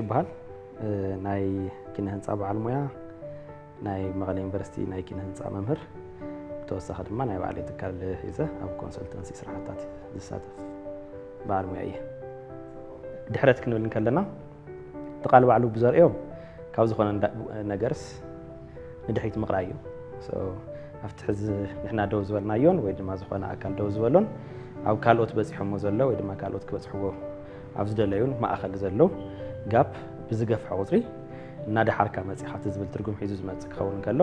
ይበሃል። ናይ ኪነ ህንፃ በዓል ሙያ፣ ናይ መቐለ ዩኒቨርሲቲ ናይ ኪነ ህንፃ መምህር፣ ብተወሳኺ ድማ ናይ ባዕለይ ትካል ሒዘ ኣብ ኮንሰልተንሲ ስራሕታት ዝሳተፍ በዓል ሙያ እየ። ድሕረት ክንብል እንከለና እቲ ቃል ባዕሉ ብዘርእዮ ካብ ዝኾነ ነገርስ ንድሕሪት ምቕራይ እዩ። ኣብቲ ሕዚ ንሕና ደው ዝበልናዮን ወይ ድማ ዝኾነ ኣካል ደው ዝበሎን ኣብ ካልኦት በፂሖሞ ዘሎ ወይ ድማ ካልኦት ክበፅሕዎ ኣብ ዝደለዩን ማእኸል ዘሎ ጋፕ ብዝገፍሐ ቁፅሪ እናደሓርካ መፂኻ እቲ ዝብል ትርጉም ሒዙ ዝመፅእ ክኸውን ከሎ፣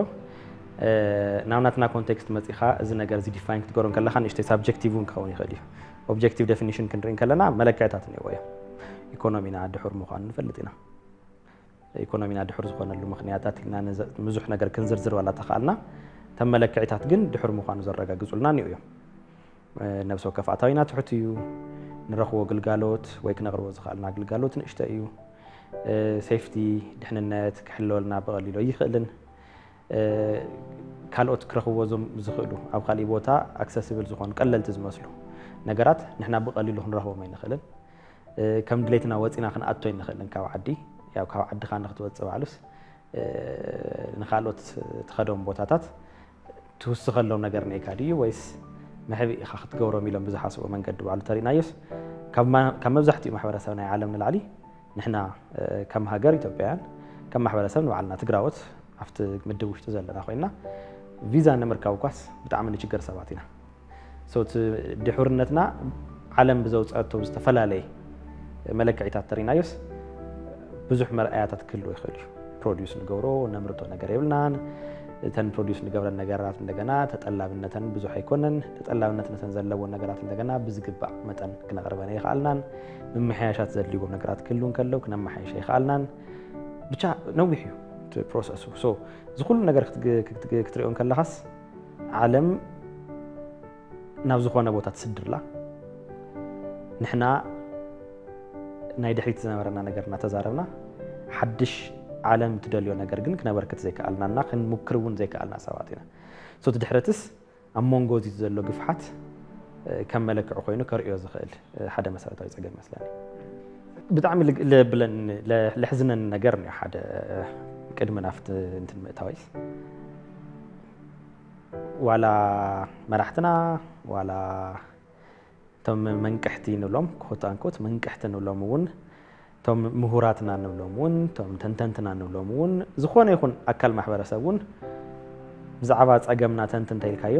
ናብ ናትና ኮንቴክስት መፂኻ እዚ ነገር እዚ ዲፋይን ክትገሮ ከለኻ ንእሽተይ ሳብጀክቲቭ እውን ክኸውን ይኽእል እዩ። ኦብጀክቲቭ ዴፊኒሽን ክንርኢ ከለና መለክዕታት እኒዎ እዮም። ኢኮኖሚና ድሑር ምዃኑ ንፈልጥ ኢና። ኢኮኖሚና ድሑር ዝኾነሉ ምኽንያታት ኢልና ብዙሕ ነገር ክንዝርዝር ዋላ ተኽኣልና፣ እተን መለክዕታት ግን ድሑር ምዃኑ ዘረጋግፁልና እኒኡ እዮም። ነብሲ ወከፍ ኣታዊና ትሑት እዩ። ንረኽቦ ግልጋሎት ወይ ክነቕርቦ ዝኽኣልና ግልጋሎት ንእሽቶ እዩ። ሴፍቲ፣ ድሕንነት ክሕለወልና ብቐሊሉ ኣይኽእልን። ካልኦት ክረኽብዎ ዞም ዝኽእሉ ኣብ ካሊእ ቦታ ኣክሰስብል ዝኾኑ ቀለልቲ ዝመስሉ ነገራት ንሕና ብቐሊሉ ክንረኽቦም ኣይንኽእልን። ከም ድሌትና ወፂና ክንኣቶ ኣይንኽእልን ካብ ዓዲ። ያው ካብ ዓድኻ ንክትወፅእ ባዕሉስ ንካልኦት ትኸዶም ቦታታት ትውስኸሎም ነገር ነይካ ድዩ ወይስ መሕብእ ኢኻ ክትገብሮም ኢሎም ብዝሓስቦ መንገዲ ባዕሉ ተሪእናዮስ ካብ መብዛሕትኡ ማሕበረሰብ ናይ ዓለም ንላዕሊ ንሕና ከም ሃገር ኢትዮጵያውያን ከም ማሕበረሰብ ንባዕልና ትግራዎት ኣብቲ ምድብ ውሽጢ ዘለና ኮይና ቪዛ ንምርካብ ኳስ ብጣዕሚ ንችገር ሰባት ኢና። እቲ ድሑርነትና ዓለም ብዘውፀአቶ ዝተፈላለየ መለክዒታት ተሪናዮስ ብዙሕ መርኣያታት ክህልዎ ይኽእል እዩ። ፕሮዲስ ንገብሮ ነምርቶ ነገር የብልናን። እተን ፕሮዲስ ንገብረን ነገራት እንደገና ተጠላብነተን ብዙሕ ኣይኮነን። ተጠላብነት ነተን ዘለዎን ነገራት እንደገና ብዝግባእ መጠን ክነቕርበን ኣይኸኣልናን። ምምሕያሻት ዘድልዎም ነገራት ክህልው እንከለው ክነመሓየሽ ኣይኸኣልናን። ብቻ ነዊሕ እዩ እቲ ፕሮሰሱ። እዚ ኩሉ ነገር ክትሪኦ እንከለኻስ ዓለም ናብ ዝኾነ ቦታ ትስድርላ። ንሕና ናይ ድሕሪት ዝነበረና ነገር እናተዛረብና ሓድሽ ዓለም ትደልዮ ነገር ግን ክነበርክት ዘይከኣልናና ክንሙክር እውን ዘይከኣልና ሰባት ኢና። እቲ ድሕረትስ ኣብ መንጎ እዚ ዘሎ ግፍሓት ከም መለክዒ ኮይኑ ከርእዮ ዝኽእል ሓደ መሰረታዊ ፀገም ይመስለኒ። ብጣዕሚ ለብለን ለሕዝነን ነገር እዩ ሓደ ቅድሚ ናፍቲ እንትን ምእታወይስ ዋላ መራሕትና ዋላ እቶም መንቅሕቲ ንብሎም ኮት ኣንኮት መንቅሕቲ ንብሎም እውን እቶም ምሁራትና ንብሎም እውን እቶም ተንተንትና ንብሎም እውን ዝኾነ ይኹን ኣካል ማሕበረሰብ እውን ብዛዕባ ፀገምና ተንትን ተይልካዮ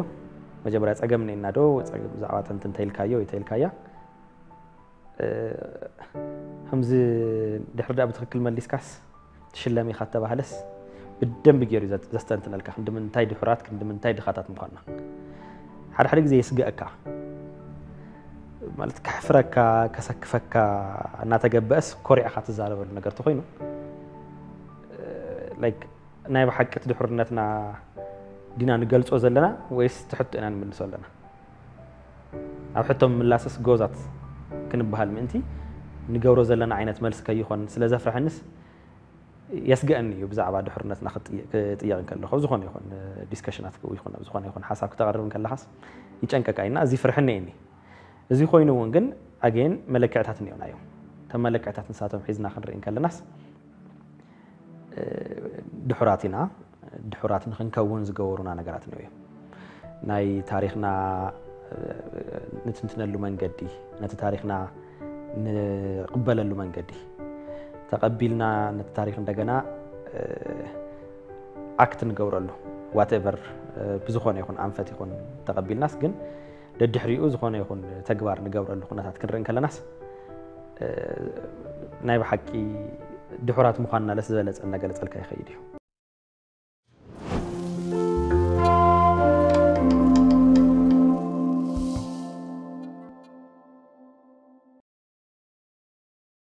መጀመርያ ፀገም ኔና ዶ ብዛዕባ ተንትን ተይልካዮ ወይ ተይልካያ ከምዚ ድሕሪ ዳ ብትክክል መሊስካስ ትሽለም ኢኻ ተባህለስ ብደንብ ገይሩ ዘስተንትነልካ ክንዲ ምንታይ ድሑራት ክንዲ ምንታይ ድኻታት ምዃንና ሓደ ሓደ ግዜ የስግአካ ማለት ከሕፍረካ ከሰክፈካ እናተገበአስ ኮሪዕኻ ትዛረበሉ ነገር ተኮይኑ ናይ ብሓቂ ድሕርነትና ዲና ንገልፆ ዘለና ወይስ ትሕቶ ኢና ንምልሶ ኣለና ኣብ ሕቶ ምላስስ ጎዛት ክንበሃል ምእንቲ ንገብሮ ዘለና ዓይነት መልሲ ከይኾን ስለ ዘፍርሐንስ የስግአኒ እዩ ብዛዕባ ድሕርነትና ክጥየቕ እንከለኹ ኣብ ዝኾነ ይኹን ዲስከሽናት ይኹን ኣብ ዝኾነ ይኹን ሓሳብ ክተቕርብ እንከለኻስ ይጨንቀካ ኢና እዚ ፍርሕኒ እኒ እዚ ኮይኑ እውን ግን ኣገን መለክዕታት እኒኦና እዮም ተመለክዕታት ንሳቶም ሒዝና ክንርኢ እንከለናስ ድሑራት ኢና ድሑራት ንክንከውን ዝገበሩና ነገራት ነው እዮም ናይ ታሪክና ንትንትነሉ መንገዲ ነቲ ታሪክና ንቅበለሉ መንገዲ ተቀቢልና ነቲ ታሪክ እንደገና ኣክት ንገብረሉ ዋቴቨር ብዝኾነ ይኹን ኣንፈት ይኹን ተቀቢልናስ ግን ደድሕሪኡ ዝኾነ ይኹን ተግባር ንገብረሉ ኩነታት ክንርኢ ከለናስ ናይ ብሓቂ ድሑራት ምዃንና ለስ ዝበለፀ እናገለፀልካ ይኸይድ እዩ